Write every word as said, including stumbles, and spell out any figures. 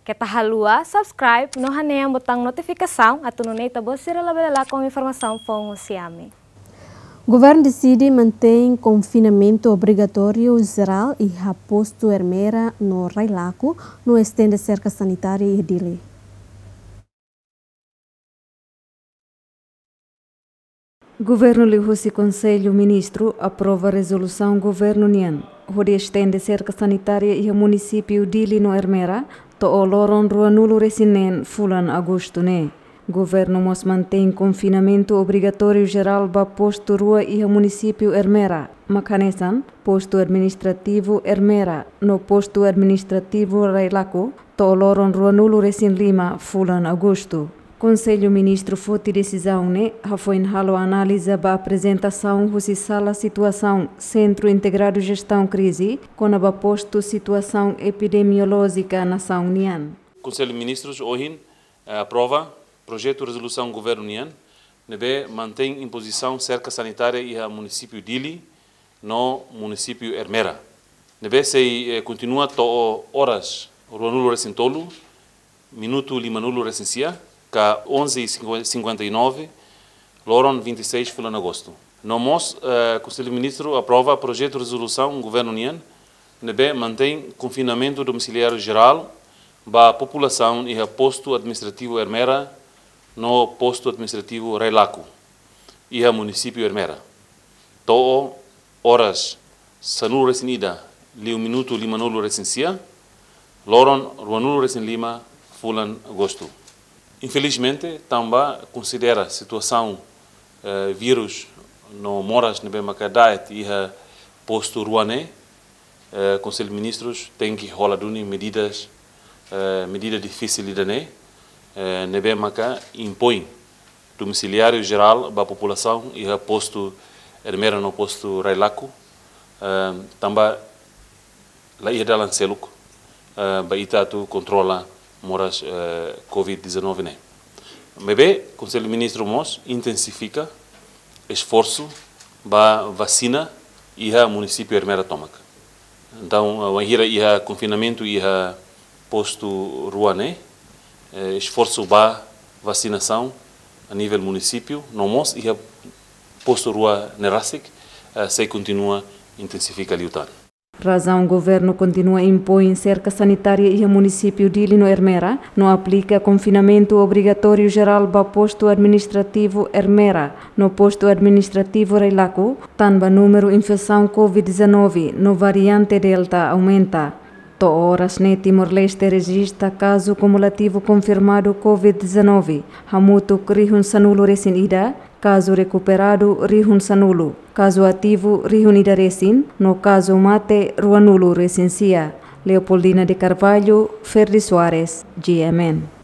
Keta haluha subscribe no hanehan botaun notifikasaun atu nune'e ita-boot sira labele lakon informasaun foun husi ami. Governu deside mantein konfinamentu obrigatóriu jerál iha postu Ermera no Railaco, no estende serka sanitária iha Dili. Governu liuhusi Konsellu Ministru aprova rezolusaun governu nian, hodi estende serka sanitária iha munisípiu Dili no Ermera, to'o loron ruanulu-resin-neen fulan Agostu ne'e. Governu mós mantein konfinamentu obrigatóriu jerál ba postu rua iha munisípiu Ermera, mak hanesan postu administrativu Ermera no postu administrativu Railaco, to'o loron ruanulu-resin-lima fulan Agostu. Konsellu Ministru foti desizaun ne'e hafoin halo analiza ba aprezentasaun husi Sala Situasaun Sentru Integradu Jestaun Krize kona-ba postu situasaun epidemiolójika nasaun nian. Konsellu Ministrus ohin, eh, aprova projetu rezolusaun governu nian, ne'ebé mantein impozisaun serka sanitária iha munisípiu Dili no munisípiu Ermera. Ne'ebé sei, eh, kontinua to'o oras ruanulu-resin-tolu, minutu limanulu-resin-sia, ka onze e cinquenta e nove, loron vinte e seis fulan Agostu. No mós, eh, Konsellu Ministru aprova projetu rezolusaun governu nian, ne'ebé mantein konfinamentu domisiliáriu jerál ba populasaun iha postu administrativu Ermera no postu administrativu Railaco, iha munisípiu Ermera, to'o oras sanulu-resin-ida liu minutu limanulu-resin-sia, loron ruanulu-resin-lima fulan Agostu. Infelizmente, tanba konsidera situasaun, eh, vírus no moras ne'ebé maka da'et iha postu rua ne'e, eh, Konsellu Ministrus tenke hola duni medidas, eh, medida difisil ida-ne'e, eh, ne'ebé maka impoin domisiliáriu jerál ba populasaun iha postu Ermera no postu Railaco, eh, tanba la iha dalan seluk, eh, ba ita atu kontrola moras, eh, covid dezanove ne'e. Maibé, Konsellu Ministru mós intensifika esforsu ba vasina iha munisípiu Ermera tomak. Entaun, eh, wainhira iha konfinamentu iha postu rua ne'e, eh, esforsu ba vasinasaun a nivel munisípiu, no mós iha postu rua ne'e rasik, eh, sei kontinua intensifika liután. Razaun governu kontinua impoin serka sanitária iha munisípiu Dili no Ermera, no aplika konfinamentu obrigatóriu jerál ba postu administrativu Ermera no postu administrativu Railaco, tanba númeru infesaun covid dezanove no variante Delta aumenta. To'o oras ne'e Timor-Leste rejista kazu kumulativu konfirmadu covid dezanove hamutuk rihun sanulu-resin-ida, kazu rekuperadu rihun sanulu, kazu ativu rihun ida-resin, no kazu mate ruanulu-resin-sia. Leopoldina de Carvalho, Ferdi Soares, G M N.